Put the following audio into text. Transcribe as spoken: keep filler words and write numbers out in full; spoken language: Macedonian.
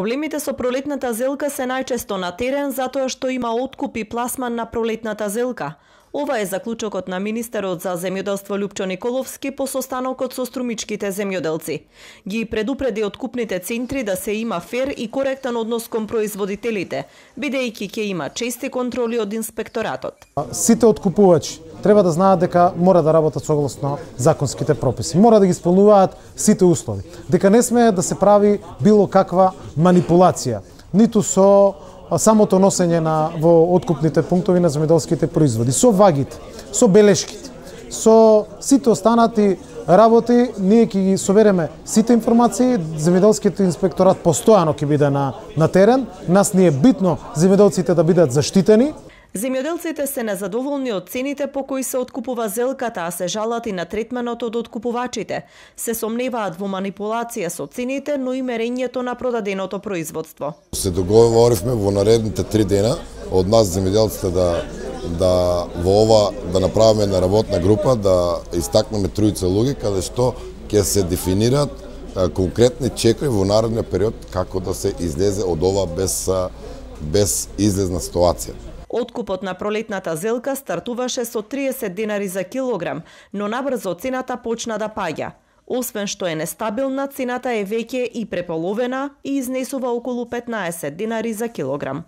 Проблемите со пролетната зелка се најчесто на терен затоа што има откуп и пласман на пролетната зелка. Ова е заклучокот на министерот за земјоделство Лјупчо Николовски по состанокот со струмичките земјоделци. Ги предупреди откупните центри да се има фер и коректен однос кон производителите, бидејќи ќе има чести контроли од инспекторатот. Сите откупувачи треба да знаат дека мора да работат согласно законските прописи. Мора да ги исполнуваат сите услови. Дека не смее да се прави било каква манипулација, ниту со самото носење на во откупните пунктови на земјоделските производи, со вагите, со белешките, со сите останати работи, ние ќе ги собереме сите информации, земјоделскиот инспекторат постојано ќе биде на на терен, нас ни е битно земјоделците да бидат заштитени. Земјоделците се незадоволни од цените по кои се откупува зелката, а се жалат и на третменот од откупувачите. Се сомневаат во манипулација со цените, но и мерењето на продаденото производство. Се договоривме во наредните три дена од нас земјоделците да да во ова да направиме една работна група, да истакнеме тројца луѓе каде што ќе се дефинираат конкретни чекори во наредниот период како да се излезе од ова без без излезна ситуација. Откупот на пролетната зелка стартуваше со триесет денари за килограм, но набрзо цената почна да паѓа. Освен што е нестабилна, цената е веќе и преполовена и изнесува околу петнаесет денари за килограм.